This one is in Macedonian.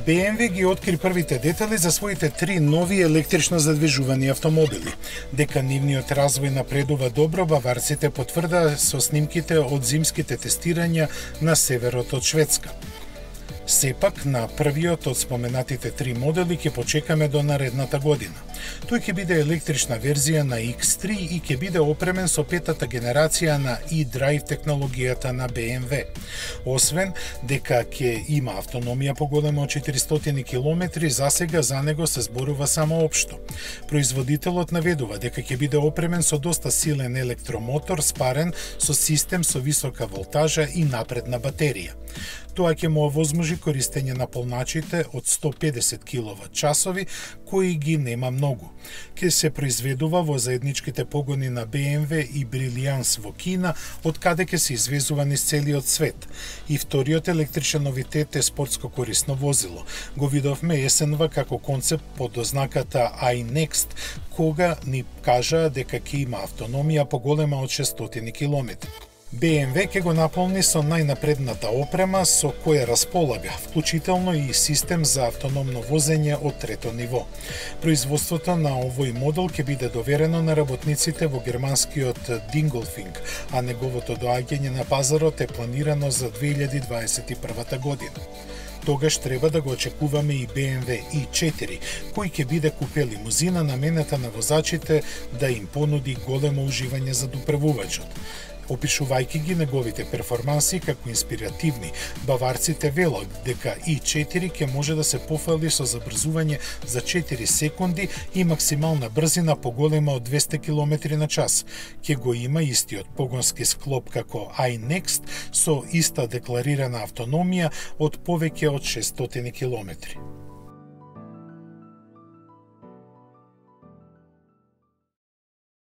BMW ги откри првите детали за своите 3 нови електрично задвижувани автомобили. Дека нивниот развој напредува добро, баварците потврдаа со снимките од зимските тестирања на северот од Шведска. Сепак, на првиот од споменатите 3 модели ќе почекаме до наредната година. Тој ќе биде електрична верзија на X3 и ќе биде опремен со 5-та генерација на e-drive технологијата на BMW. Освен дека ќе има автономија поголема од 400 км, засега за него се зборува само општо. Производителот наведува дека ќе биде опремен со доста силен електромотор, спарен со систем со висока волтажа и напредна батерија. Тоа ќе му овозможи користење на полначите од 150 кВт, кои ги нема многу. Ќе се произведува во заедничките погони на BMW и Brilliance во Кина, од каде ќе се извезува низ целиот свет. И вториот електричен новитет е спортско корисно возило. Го видовме есенва како концепт под ознаката iNext, кога ни кажаа дека ќе има автономија поголема од 600 км. BMW ќе го наполни со најнапредната опрема со која располага, вклучително и систем за автономно возење од 3-то ниво. Производството на овој модел ќе биде доверено на работниците во германскиот Dingolfing, а неговото доаѓање на пазарот е планирано за 2021 година. Тогаш треба да го очекуваме и BMW i4, кој ќе биде купе лимузина наменета на возачите да им понуди големо уживање за доправувачот. Опишувајќи ги неговите перформанси како инспиративни, баварците велат дека i4 ќе може да се пофали со забрзување за 4 секунди и максимална брзина поголема од 200 км на час. Ќе го има истиот погонски склоп како iNext со иста декларирана автономија од повеќе од 600 км.